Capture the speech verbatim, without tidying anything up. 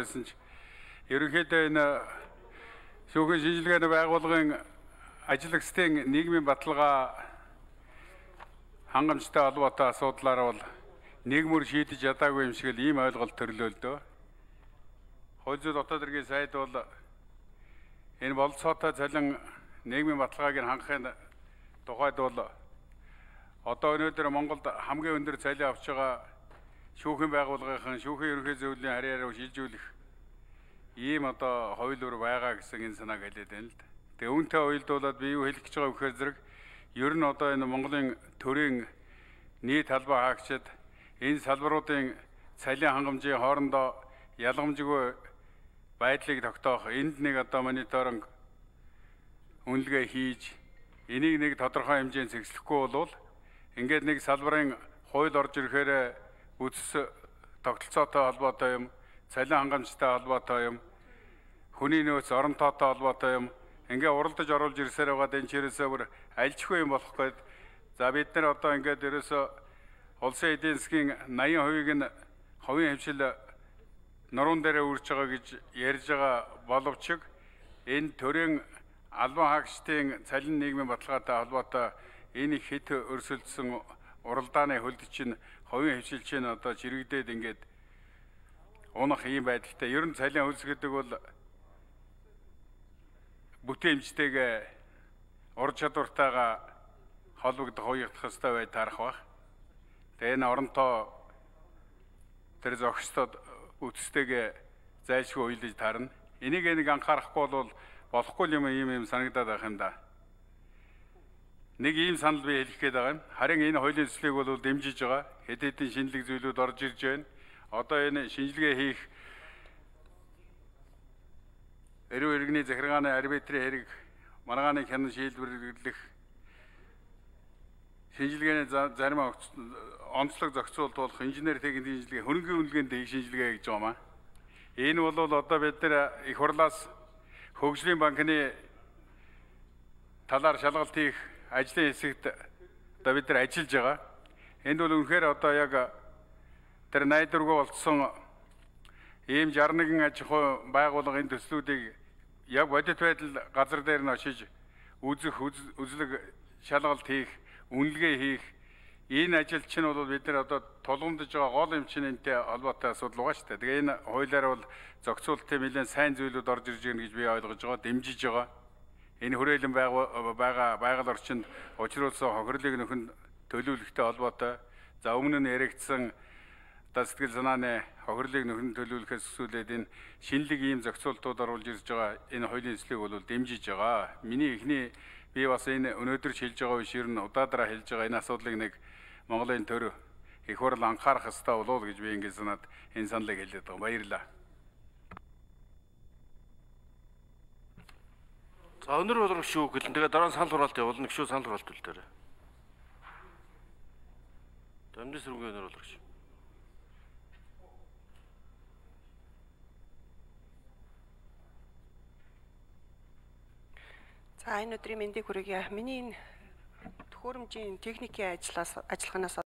байсан ч ерөнхийдөө энэ шүүхийн шинжилгээний байгууллагын ажиллагчдын нийгмийн баталгаа хангамжтай холбоотой асуудлаар бол нийгмөр шийдэж ядаагүй юм шиг л ийм ойлголт төрлөөлдөө. Хууль зүйн дотоод хэргийн сайд бол энэ болцоотой цалин нийгмийн баталгааг хангахын тухайд бол одоо өнөөдөр Монголд хамгийн өндөр цалин авч байгаа шүүхийн байгууллагын шүүхийн ерөнхий зөвлөлийн харьяараа шилжүүлэх ийм одоо хууль өр байгаа гэсэн энэ санааг хэлээд байна л да. Тэгээ үүнтэй уялдуулаад би юу хэлэх гэж байгаа вэхээр зэрэг ер нь одоо энэ Монголын төрийн нийт талбай хаагчид энэ салбаруудын цалин хангамжийн хоорондоо ялгамжгүй байдлыг тогтоох энд нэг одоо мониторинг үнэлгээ хийж энийг нэг тодорхой хэмжээнд зэгслэхгүй бол ингээд нэг салбарын хууль орж ирэхээр үс тогтолцоотой холбоотой юм, цалин хангамжтай холбоотой юм, хүний нөөц оронтойтой холбоотой юм ингээ уралдаж оруулж ирсээр байгаа энэ чирээсээ бүр альжгүй юм болох гээд за бид нар одоо ингээд ерөөсө улсын эдийн засгийн наян хувийг нь хувийн хэмжил нуруунд дээр үрж байгаа гэж ярьж байгаа боловч энэ төрийн албан хаагчдын цалин нийгмийн баталгаатай холбоотой энэ хэд өрсөлдсөн уралдааны хөлд чинь хувийн хэмжил чинь одоо чирэгдээд ингээд унах ийм байдалтай. Ер нь цалин хөлс гэдэг бол бүтээмжтэйгээ ур чадвартайгаа холбогдох хуйгдах ёстой бай тарах баг. Тэгээ энэ оронтой тэр зохистод үтстэйгээ зайлшгүй уйлж тарна. Энийг нэг анхаарахгүй бол болохгүй юм ийм юм санагдаад байх юм да. Нэг ийм санал би хэлэх гээд байгаа юм. Харин энэ хуулийн төслийг бол дэмжиж байгаа. Хэд хэдэн шинэлэг зүйлүүд орж ирж байна. Одоо энэ шинжилгээ хийх эрүү иргэний захиргааны арбитрийн хэрэг маргааны хянан шийдвэрлэх шинжилгээний зарим онцлог зохицуулалт болох инженер техникийн шинжилгээ хөрөнгөний үнэлгээнд хийх шинжилгээ гэж байгаа юм аа. Энэ бол одоо бид нар их хурлаас хөгжлийн банкны талаар шалгалт хийх ажлын хэсэгт одоо бид нар ажиллаж байгаа. Энд бол үнэхээр одоо яг тэр найдваргүй болцсон ийм шестьдесят нэгэн аж ахуй байгууллагын төслүүдийг яг бодит байдал газар дээр нь очиж үзэх, үзлэг шалгалт хийх, үнэлгээ хийх энэ ажил чинь бол бид нар одоо тулгамдж байгаа гол юм чинь энэтэй холбоотой асуудал байгаа шүү дээ. Тэгээ энэ хуулиар бол зохицуулалтын нэлээд сайн зүйлүүд орж ирж байна гэж би ойлгож байгаа, дэмжиж байгаа. Энэ хүрээлэн байгаа байгаль орчинд учруулсан хохирлыг нөхөн төлөвлөлттэй холбоотой. За өмнө нь яригдсан одоо сэтгэл санааны хохирлыг нөхөн төлөвлөхөөс өсвөлээд энэ шинэлэг ийм зохицуултууд оруулж ирж байгаа энэ хуулийн төслийг бол дэмжиж байгаа. Миний эхний би бас энэ өнөөдөр хэлж байгаа биш ер нь удаадраа хэлж байгаа энэ асуудлыг нэг Монголын төр их хурл анхаарах ёстой болов уу гэж би ингэ санаад энэ саналыг хэлээд байгаа. Баярлалаа. За өнөр болрох шүү гэлэн. Тэгээ дараа нь санал хураалт явуулна. Гişүү санал хураалт үлдээрэй. Дамжин сүргийн өнөр болрох шүү. За энэ өдрийн мэндийг хүргье. Миний энэ төхөөрөмжийн техникийн ажлаас ажиллагаанаас